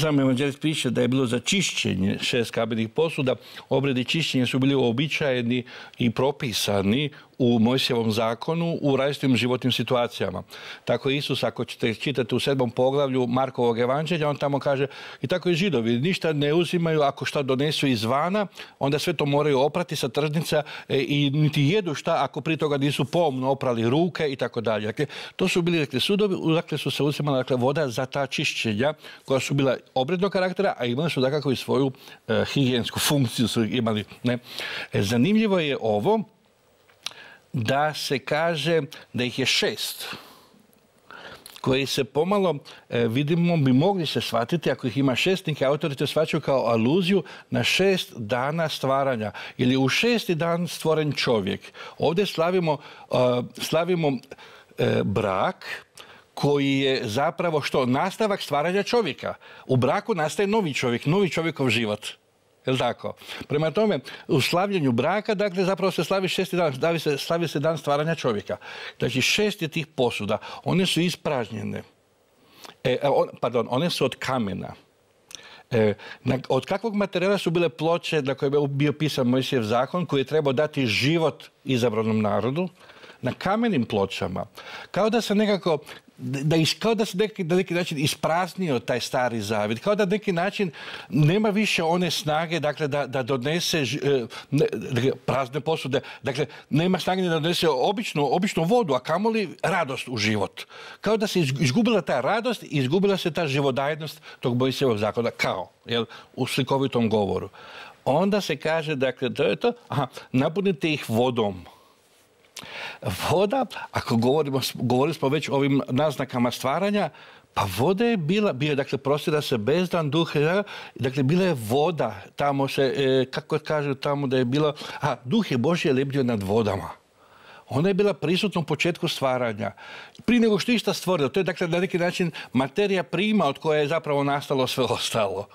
Sam evanđelist piše da je bilo za čišćenje 6 kamenih posuda. Obredi čišćenja su bili uobičajeni i propisani u Mojsijevom zakonu u različitim životnim situacijama. Tako Isus, ako ćete čitati u 7. poglavlju Markovog evanđelja, on tamo kaže i tako i Židovi ništa ne uzimaju ako šta donesu izvana, onda sve to moraju oprati sa tržnica i niti jedu šta ako prije toga nisu pomno oprali ruke i tako dalje. Dakle, to su bili sudovi, dakle su se uzimala voda za ta čišćenja koja su bila obrednog karaktera, a imali su dakako i svoju higijensku funkciju su imali. Ne? Zanimljivo je ovo da se kaže da ih je 6 koji se pomalo, vidimo, bi mogli se shvatiti, ako ih ima 6, neki autori to shvaćaju kao aluziju na 6 dana stvaranja. Ili u 6. dan stvoren čovjek. Ovdje slavimo brak koji je zapravo što? Nastavak stvaranja čovjeka. U braku nastaje novi čovjek, novi čovjekov život. Je li tako? Prema tome, u slavljenju braka, dakle, zapravo se slavi 6. dan, slavi se dan stvaranja čovjeka. Znači, 6 je tih posuda. One su ispražnjene. One su od kamena. Od kakvog materijala su bile ploče na koje je bio pisan Mojsijev zakon, koji je trebao dati život izabranom narodu? Na kamenim pločama. Kao da se nekako kao da se na neki način ispraznio taj stari zavjet, kao da na neki način nema više one snage, dakle, da donese prazne posude, dakle, nema snage da donese običnu vodu, a kamoli radost u život. Kao da se izgubila ta radost i izgubila se ta živodajnost tog Mojsijevog zakona, kao, u slikovitom govoru. Onda se kaže, dakle, napunite ih vodom. Voda, ako govorili smo već o ovim naznakama stvaranja, pa voda je dakle, prostira se bezdan duh, dakle, bila je voda, tamo se, kako kažu tamo da je bilo, duh je Božji lebdio nad vodama. Ona je bila prisutna u početku stvaranja. Prije nego što išta stvorilo, to je dakle na neki način materija prima od koje je zapravo nastalo sve ostalo.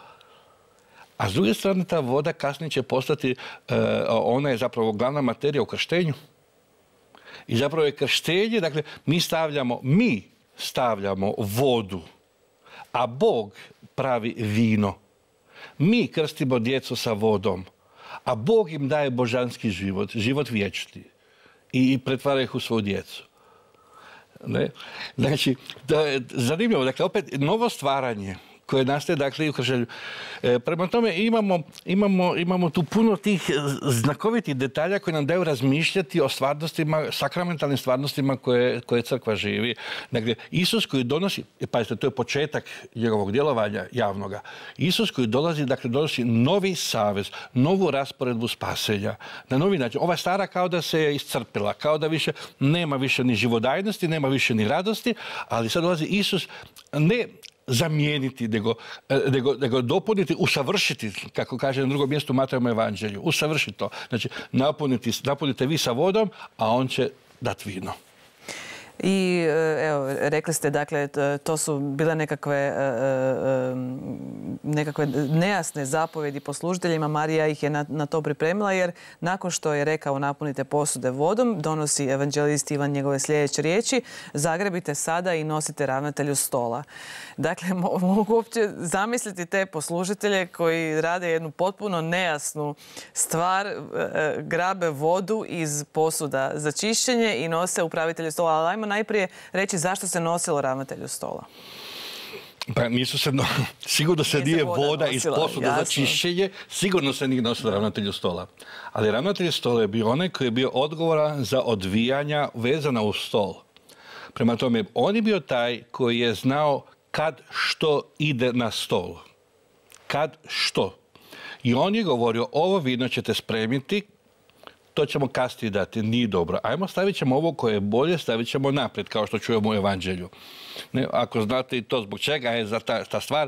A s druge strane, ta voda kasnije će postati, ona je zapravo glavna materija u krštenju. I zapravo je krštenje, dakle, mi stavljamo vodu, a Bog pravi vino. Mi krstimo djecu sa vodom, a Bog im daje božanski život, život vječni i pretvara ih u svoju djecu. Ne? Znači, zanimljivo, dakle, opet novo stvaranje koje nastaje, dakle, i u krštenju. Prema tome imamo tu puno tih znakovitih detalja koji nam daju razmišljati o stvarnostima, sakramentalnim stvarnostima koje crkva živi. Dakle, Isus koji donosi, pazite, to je početak njegovog djelovanja javnoga. Isus koji dolazi, dakle, donosi novi savez, novu rasporedbu spasenja. Na novi način. Ova stara kao da se je iscrpila, kao da više nema više ni živodajnosti, nema više ni radosti, ali sad dolazi Isus ne zamijeniti, nego dopuniti, usavršiti, kako kaže na drugom mjestu u Matejovom evanđelju. Usavršiti to. Znači, napunite vi sa vodom, a on će dati vino. I evo, rekli ste, dakle, to su bile nekakve nejasne zapovjedi poslužiteljima. Marija ih je na to pripremila, jer nakon što je rekao napunite posude vodom, donosi evanđelist Ivan njegove sljedeće riječi: zagrebite sada i nosite ravnatelju stola. Dakle, mogu uopće zamisliti te poslužitelje koji rade jednu potpuno nejasnu stvar, grabe vodu iz posuda za čišćenje i nose upravitelju stola. Ali ajmo najprije reći zašto se nosilo ravnatelju stola. Pa sigurno se nije voda iz posuda za čišćenje, sigurno se nije nosilo ravnatelju stola. Ali ravnatelj stola je bio onaj koji je bio odgovoran za odvijanja vezana uz stol. Prema tome, on je bio taj koji je znao kad što ide na stol. Kad što. I on je govorio, ovo vino ćete spremiti, to ćemo kasnije dati, nije dobro. Ajmo, stavit ćemo ovo koje je bolje, stavit ćemo naprijed, kao što čujemo u evanđelju. Ako znate i to zbog čega je za ta stvar,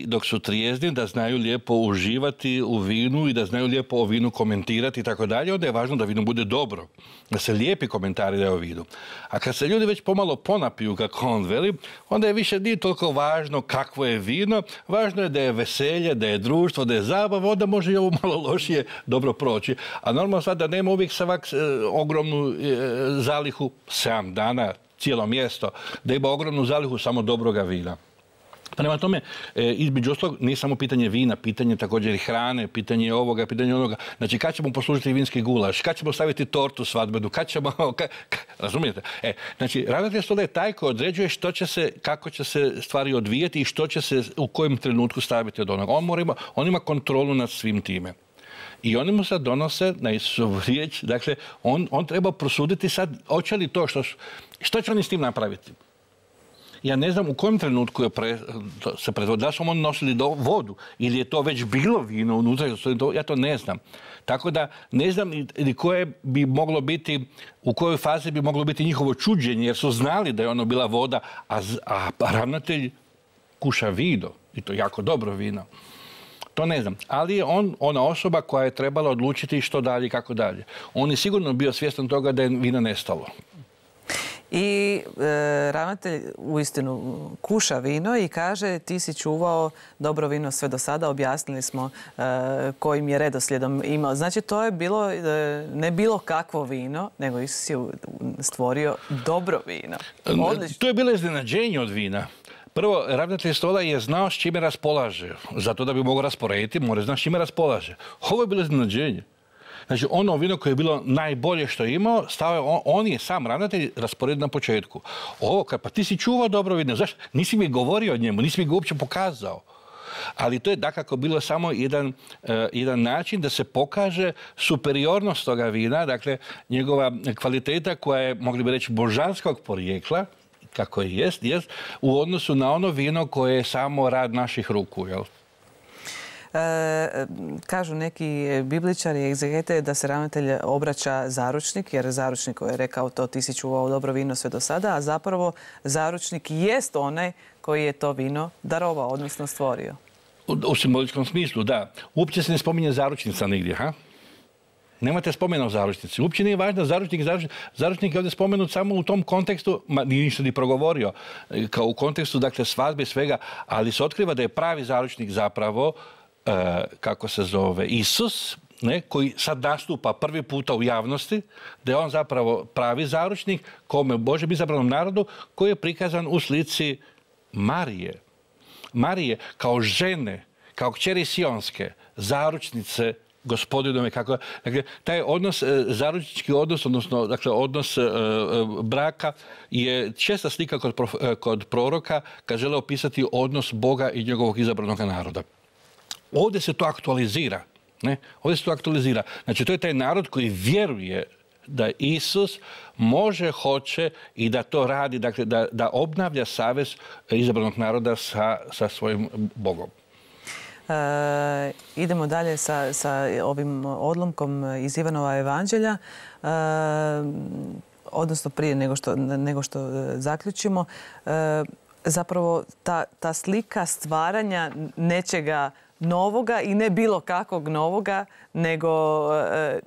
dok su trijezni, da znaju lijepo uživati u vinu i da znaju lijepo o vinu komentirati i tako dalje, onda je važno da vino bude dobro. Da se lijepi komentari daju o vinu. A kad se ljudi već pomalo ponapiju, kako on veli, onda je više nije toliko važno kakvo je vino, važno je da je veselje, da je društvo, da je zabava, onda može i ovo malo lošije dobro proći. A normalno sad da nema uvijek ogromnu zalihu 7 dana, cijelo mjesto, da ima ogromnu zalihu samo dobroga vina. Prema tome, između ostalog, nije samo pitanje vina, pitanje također i hrane, pitanje ovoga, pitanje onoga. Znači, kad ćemo poslužiti vinski gulaš, kad ćemo staviti tortu svadbenu, kad ćemo... razumijete? Znači, ravnatelj stola je taj koji određuje što će se, kako će se stvari odvijeti i što će se u kojem trenutku staviti od onoga. On ima kontrolu nad svim time. I oni mu sad donose na Isusovu riječ, dakle, on treba prosuditi sad, hoće li to što će oni s tim napraviti? Ja ne znam u kojem trenutku se predvodi. Da su oni nosili vodu ili je to već bilo vino unutra, ja to ne znam. Tako da ne znam koje bi moglo biti, u kojoj fazi bi moglo biti njihovo čuđenje, jer su znali da je ono bila voda, a ravnatelj kuša vino, i to jako dobro vino. To ne znam, ali je on ona osoba koja je trebala odlučiti što dalje i kako dalje. On je sigurno bio svjestan toga da je vino nestalo. I ravnatelj uistinu kuša vino i kaže ti si čuvao dobro vino sve do sada, objasnili smo kojim je redoslijedom imao. Znači to je bilo ne bilo kakvo vino, nego Isus je stvorio dobro vino. Odlično. To je bilo iznenađenje od vina. Prvo, ravnatelj stola je znao s čime raspolaže. Zato da bi mogao rasporediti, mora znati s čime raspolaže. Ovo je bilo iznenađenje. Znači, ono vino koje je bilo najbolje što je imao, on je sam ravnatelj rasporedio na početku. Ovo, pa ti si čuvao dobro vino, zašto? Nisi mi govorio o njemu, nisi mi ga uopće pokazao. Ali to je dakako bilo samo jedan način da se pokaže superiornost toga vina, dakle, njegova kvaliteta koja je, mogli bi reći, božanskog porijekla, kako je jest, u odnosu na ono vino koje je samo rad naših ruku, jel? Kažu neki bibličari i egzegete da se ravnatelj obraća zaručnik, jer zaručnik koji je rekao to ti si čuvao dobro vino sve do sada, a zapravo zaručnik jest onaj koji je to vino darovao, odnosno stvorio. U simboličkom smislu, da. Uopće se ne spominje zaručnica nigdje, ha? Nemate spomena o zaručnici. Uopće nije važno zaručnik je ovdje spomenut samo u tom kontekstu, nije ništa ni progovorio, kao u kontekstu, dakle, svadbe svega, ali se otkriva da je pravi zaručnik zapravo kako se zove, Isus, koji sad nastupa prvi puta u javnosti, da je on zapravo pravi zaručnik kome Božjem izabranom narodu, koji je prikazan u slici Marije. Marije kao žene, kao kćeri Sionske, zaručnice Gospodinove, kako, dakle, taj odnos, zaručnički odnos, odnosno, dakle, odnos braka je česta slika kod proroka kad žele opisati odnos Boga i njegovog izabranog naroda. Ovdje se to aktualizira. Ovdje se to aktualizira. Znači, to je taj narod koji vjeruje da Isus može, hoće i da to radi, dakle, da obnavlja savez izabranog naroda sa svojim Bogom. Idemo dalje sa ovim odlomkom iz Ivanova evanđelja. Odnosno, prije nego što zaključimo, zapravo ta slika stvaranja nečega novoga i ne bilo kakvog novoga, nego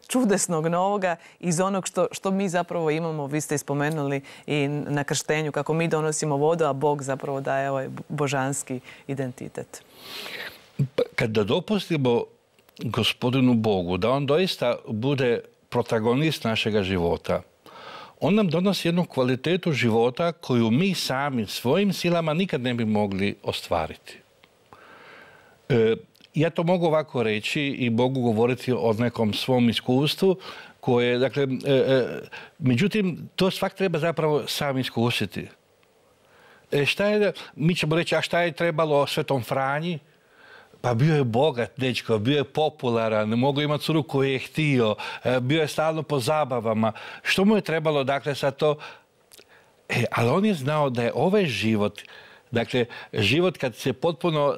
čudesnog novoga iz onog što mi zapravo imamo. Vi ste spomenuli i na krštenju kako mi donosimo vodu, a Bog zapravo daje ovaj božanski identitet. Kada dopustimo Gospodinu Bogu da on doista bude protagonist našega života, on nam donosi jednu kvalitetu života koju mi sami svojim silama nikad ne bi mogli ostvariti. Ja to mogu ovako reći i mogu govoriti o nekom svom iskustvu koje, dakle, međutim, to svak treba zapravo sam iskusiti. Mi ćemo reći, a šta je trebalo Svetom Franji? Pa bio je bogat dečko, bio je popularan, mogao imati curu koju je htio, bio je stalno po zabavama. Što mu je trebalo, dakle, sad to? Ali on je znao da je ovaj život, dakle, život kad se potpuno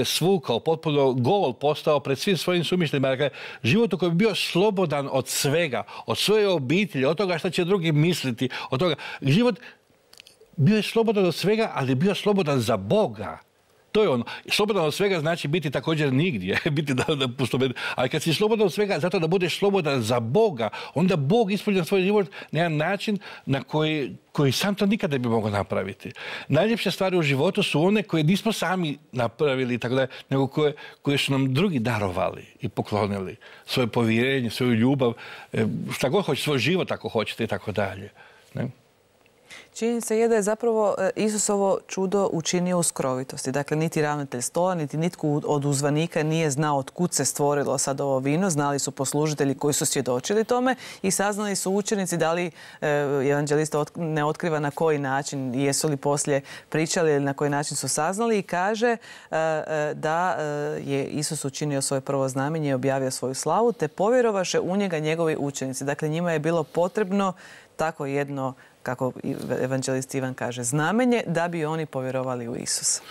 svukao, potpuno gol postao pred svim svojim sumišljima, dakle, život u kojem je bio slobodan od svega, od svoje obitelji, od toga što će drugi misliti, od toga. Život bio je slobodan od svega, ali je bio slobodan za Boga. To je ono. Slobodan od svega znači biti također nigdje. Ali kad si slobodan od svega zato da budeš slobodan za Boga, onda Bog ispunja svoj život na jedan način na koji sam to nikada ne bi mogao napraviti. Najljepše stvari u životu su one koje nismo sami napravili, tako da, nego koje su nam drugi darovali i poklonili. Svoje povjerenje, svoju ljubav, šta god hoće, svoj život ako hoćete i tako dalje. Ne? činjenica je da je zapravo Isusovo čudo učinio u skrovitosti. Dakle, niti ravnatelj stola, niti nitko od uzvanika nije znao od kud se stvorilo sad ovo vino. Znali su poslužitelji koji su svjedočili tome i saznali su učenici, da li evanđelista ne otkriva na koji način, jesu li poslije pričali ili na koji način su saznali, i kaže da je Isus učinio svoje prvo znamenje i objavio svoju slavu, te povjerovaše u njega njegovi učenici. Dakle, njima je bilo potrebno tako jedno, kako evanđelist Ivan kaže, znamenje da bi oni povjerovali u Isusa.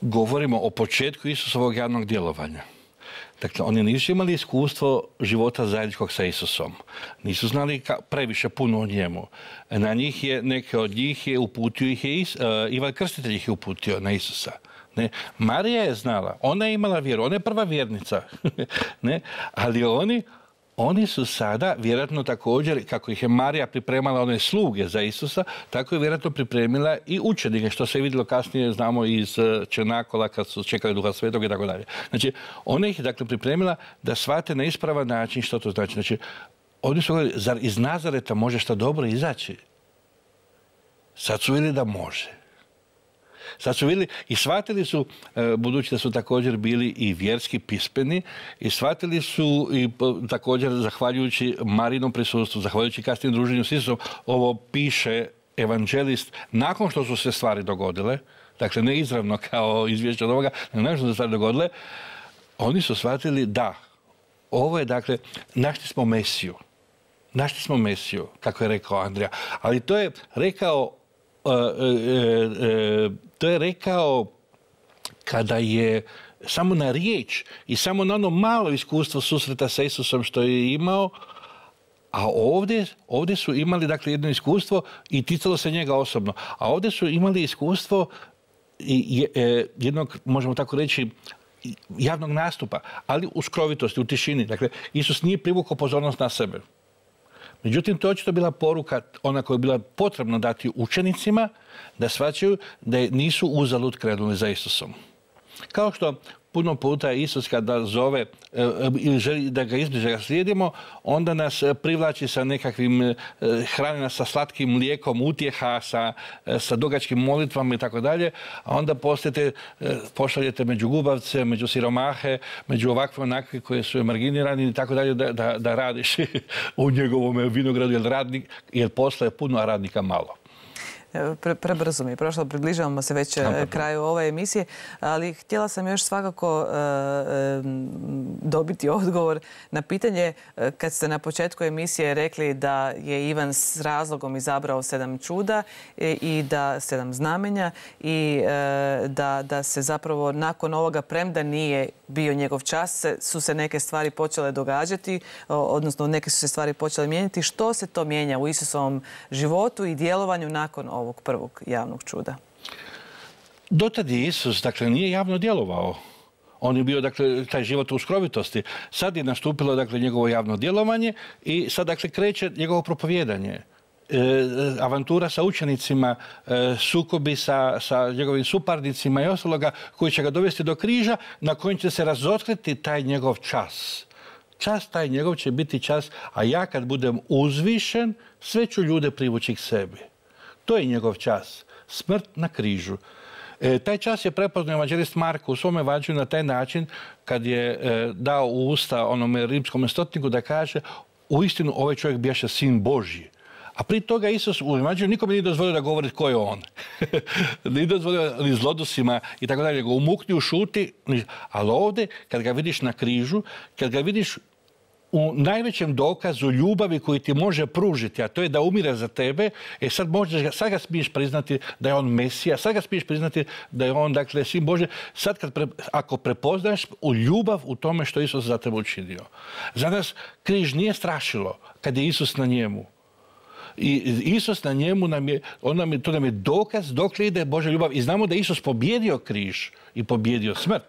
Govorimo o početku Isusovog javnog djelovanja. Dakle, oni nisu imali iskustvo života zajedničkog sa Isusom. Nisu znali previše puno o njemu. Na njih je, neke od njih je uputio ih je Ivan Krstitelj ih je uputio na Isusa. Ne? Marija je znala, ona je imala vjeru, ona je prva vjernica. Ne? Ali oni su sada, vjerojatno također, kako ih je Marija pripremala one sluge za Isusa, tako je vjerojatno pripremila i učenike, što se je vidjelo kasnije, znamo, iz Černakola, kad su čekali Duha Svetog i tako dalje. Znači, ona ih je dakle pripremila da shvate na ispravan način što to znači. Znači, oni su govorili, zar iz Nazareta može šta dobro izaći? Sad su vidjeli da može. Sad su vidjeli i shvatili su, budući da su također bili i vjerski pismeni, i shvatili su i također, zahvaljujući Marijinom prisustvu, zahvaljujući kasnijem druženju s Isusom, ovo piše evanđelist nakon što su se stvari dogodile, dakle ne izravno kao izvješće od ovoga, nego nakon što su se stvari dogodile, oni su shvatili da ovo je, dakle, našli smo Mesiju. Našli smo Mesiju, kako je rekao Andrija. Ali to je rekao kada je samo na riječ i samo na ono malo iskustvo susreta sa Isusom što je imao, a ovdje su imali, dakle, jedno iskustvo i ticalo se njega osobno. A ovdje su imali iskustvo jednog, možemo tako reći, javnog nastupa, ali u skrovitosti, u tišini. Dakle, Isus nije privukao pozornost na sebe. Međutim, to je očito bila poruka, ona koja je bila potrebna dati učenicima, da shvaćaju da nisu uzalud krenuli za Isusom. Kao što puno puta Isus kada zove ili želi da ga izbliže, da ga slijedimo, onda nas privlači sa nekakvim, hrani nas sa slatkim mlijekom utjeha, sa dugačkim molitvama i tako dalje, a onda pošaljete među gubavce, među siromahe, među ovakve onakve koje su marginirani i tako dalje, da radiš u njegovom vinogradu, jer posla je puno, a radnika malo. Prebrzo mi je prošlo, približavamo se već kraju ove emisije, ali htjela sam još svakako dobiti odgovor na pitanje, kad ste na početku emisije rekli da je Ivan s razlogom izabrao 7 čuda i da 7 znamenja i da se zapravo nakon ovoga, premda nije bio njegov čas, su se neke stvari počele događati, odnosno neke su se stvari počele mijenjati. Što se to mijenja u Isusovom životu i djelovanju nakon ovog prvog javnog čuda? Dotad je Isus, dakle, nije javno djelovao. On je bio, dakle, taj život u skrovitosti. Sad je nastupilo, dakle, njegovo javno djelovanje i sad, dakle, kreće njegovo propovijedanje. Avantura sa učenicima, sukobi sa njegovim suparnicima i ostaloga koji će ga dovesti do križa, na kojem će se razotkriti taj njegov čas. Čas taj njegov će biti čas, a ja kad budem uzvišen, sve ću ljude privući k sebi. To je njegov čas. Smrt na križu. Taj čas je prepoznao evanđelist Marko u svome evanđelju na taj način kad je dao u usta onome rimskom stotniku da kaže uistinu ovaj čovjek bijaše sin Božji. A prije toga Isus u evanđelju nikome nije dozvolio da govori tko je on. Nije dozvolio ni zlodusima i tako dalje. Go umukni, ušuti. Ali ovdje, kad ga vidiš na križu, kad ga vidiš u najvećem dokazu ljubavi koji ti može pružiti, a to je da umire za tebe, sad ga smiješ priznati da je on Mesija, sad ga smiješ priznati da je on, dakle, sin Božji. Sad ako prepoznaš u ljubav u tome što Isus za tebe učinio. Za nas križ nije strašilo kad je Isus na njemu. I Isus na njemu to nam je dokaz dokle ide Božja ljubav. I znamo da je Isus pobjedio križ i pobjedio smrt.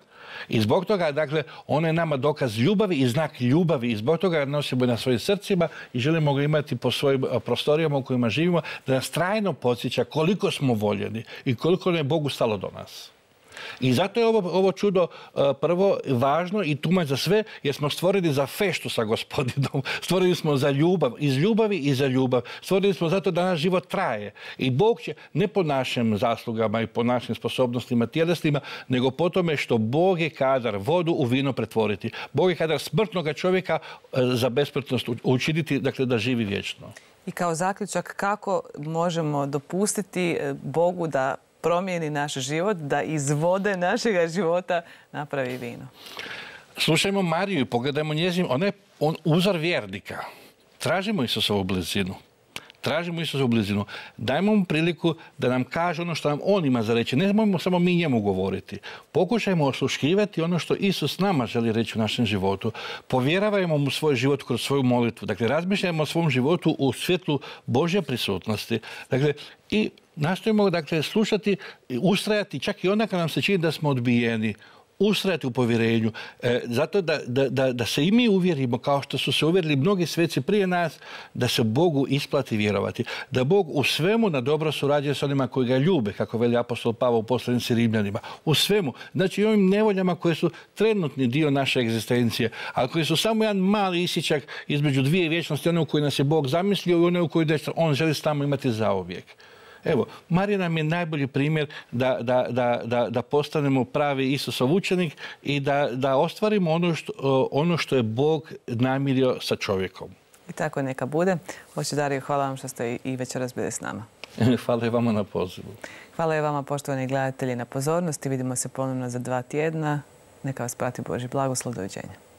I zbog toga, dakle, on je nama dokaz ljubavi i znak ljubavi. I zbog toga ga nosimo na svojim srcima i želimo ga imati po svojim prostorijama u kojima živimo, da nas trajno podsjeća koliko smo voljeni i koliko nam je Bogu stalo do nas. I zato je ovo čudo prvo važno i tumač za sve, jer smo stvoreni za feštu sa Gospodinom. Stvoreni smo za ljubav, iz ljubavi i za ljubav. Stvoreni smo zato da naš život traje. I Bog će ne po našim zaslugama i po našim sposobnostima tjelesnima, nego po tome što Bog je kadar vodu u vino pretvoriti. Bog je kadar smrtnoga čovjeka za besmrtnost učiniti, dakle da živi vječno. I kao zaključak, kako možemo dopustiti Bogu da promijeni naš život, da iz vode našega života napravi vino? Slušajmo Mariju i pogledajmo njezin, on uzor vjernika. Tražimo Isusovu blizinu. Tražimo Isusovu blizinu. Dajmo mu priliku da nam kaže ono što nam on ima za reći. Ne možemo samo mi njemu govoriti. Pokušajmo osluškivati ono što Isus nama želi reći u našem životu. Povjeravajmo mu svoj život kroz svoju molitvu. Dakle, razmišljajmo o svom životu u svjetlu Božje prisutnosti. Dakle, i nastojimo, dakle, slušati, ustrajati čak i onda kad nam se čini da smo odbijeni. Ustrajati u povjerenju, zato da se i mi uvjerimo, kao što su se uvjerili mnogi sveci prije nas, da se Bogu isplati vjerovati. Da Bog u svemu na dobro surađuje s onima koji ga ljube, kako veli apostol Pavao u poslanici Rimljanima. U svemu. Znači i ovim nevoljama koje su trenutni dio naše egzistencije, ali koji su samo jedan mali isičak između dvije vječnosti, one u kojoj nas je Bog zamislio i one u kojoj on želi s nama imati zauvijek. Evo, Marija nam je najbolji primjer da postanemo pravi Isusov učenik i da ostvarimo ono što je Bog namirio sa čovjekom. I tako neka bude. Oče Dario, hvala vam što ste i večeras bili s nama. Hvala i vama na pozivu. Hvala i vama, poštovani gledatelji, na pozornosti. Vidimo se ponovno za 2 tjedna. Neka vas prati Božji blagoslov. Doviđenja.